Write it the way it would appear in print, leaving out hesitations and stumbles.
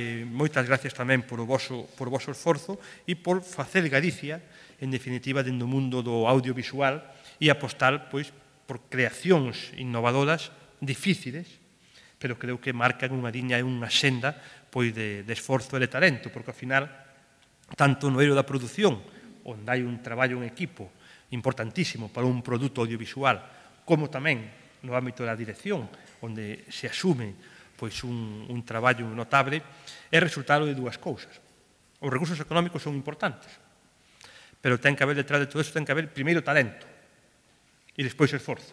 Moitas gracias tamén por o voso esforzo e por facer Galicia, en definitiva, dentro do mundo do audiovisual e apostar por creacións innovadoras difíciles, pero creo que marcan unha liña e unha senda de esforzo e de talento, porque ao final, tanto no eido da produción, onde hai un traballo en equipo importantísimo para un produto audiovisual, como tamén no ámbito da dirección, onde se asume un traballo notable, é resultado de dúas cousas. Os recursos económicos son importantes, pero ten que haber detrás de todo iso, ten que haber primeiro talento e despois esforzo.